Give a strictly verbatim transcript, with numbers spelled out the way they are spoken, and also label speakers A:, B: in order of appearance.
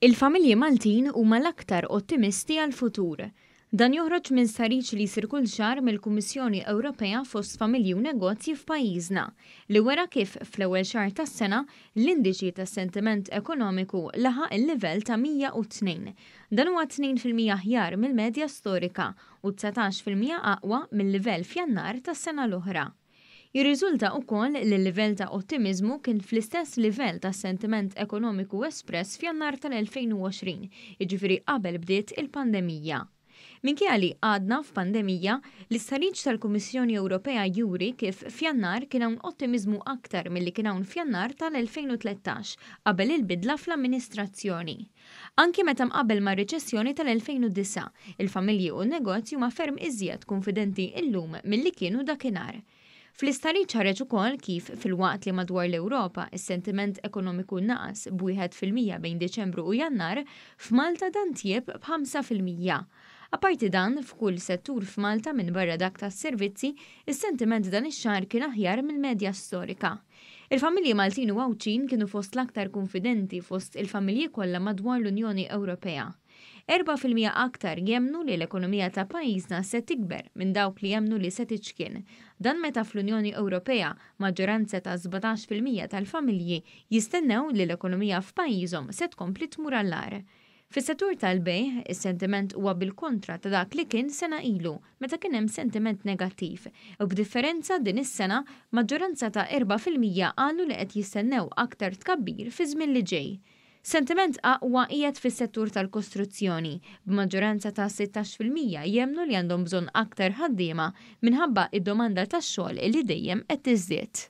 A: Il-familji Maltin huma l-aktar ottimisti għall-futur. Dan joħroġ minn stħarriġ li jsir kull xahar mill-Kummissjoni Ewropea fost familji u negozji f'pajjiżna, li wera kif fl-ewwel xahar tas-sena l-indiċi tas-sentiment ekonomiku laħaq il-livell ta' mija u tnejn. Dan huwa tnejn fil-mija aħjar mill-medja storika u dsatax fil-mija aqwa mill-livell f'Jannar tas-sena l-oħra. Jirriżulta wkoll li l-livell ta' ottimiżmu kien fl-istess livell ta' sentiment ekonomiku espress f'Jannar tal-elfejn u għoxrin, jiġifieri qabel bdiet il-pandemija. Minkejja li għadna f'pandemija, l-istħarriġ tal-Kummissjoni Ewropea juri kif f'Jannar kien hawn ottimiżmu aktar milli kien hawn f'Jannar tal-elfejn u tlettax qabel il-bidla fl-amministrazzjoni. Anki meta mqabbel mar-riċessjoni tal-elfejn u disgħa, il-familji u n-negozji huma ferm iżjed kunfidenti illum milli kienu dakinhar. Fl-istħarriġ ħareġ ukoll kif filwaqt li madwar l-Ewropa is-sentiment ekonomiku naqas b'wieħed fil-mija bejn Diċembru u Jannar, f'Malta dan tjieb b'ħamsa fil-mija. Apparti dan, f'kull settur f'Malta minn barra dak tas-servizzi, is-sentiment dan ix-xahar kien aħjar mill-medja storika. Il-familji Maltin u Għawdxin kienu fost l-aktar kunfidenti fost il-familji kollha madwar l-Unjoni Ewropea. Erba' fil-mija aktar jemnu li l-ekonomija ta' pajjiżna se tikber minn dawk li jemnu li se tiċkien. Dan meta fl-Unjoni Ewropea maġġoranza ta' sbatax fil-mija tal-familji jistennew li l-ekonomija f'pajjiżhom se tkompli tmur għall-agħar. Fis-settur tal-bejgħ, is-sentiment huwa bil-kontra ta' dak li kien sena ilu, meta kien hemm sentiment negattiv. U b'differenza din is-sena, maġġoranza ta' erba' fil-mija qalu li qed jistennew aktar tkabbir fi żmien li ġej. Sentiment aqwa qiegħed fis-settur tal-kostruzzjoni, b'maġġoranza ta' sittax fil-mija jemnu li għandhom bżonn aktar ħaddiema minħabba id-domanda tax-xogħol li dejjem qed tiżdied.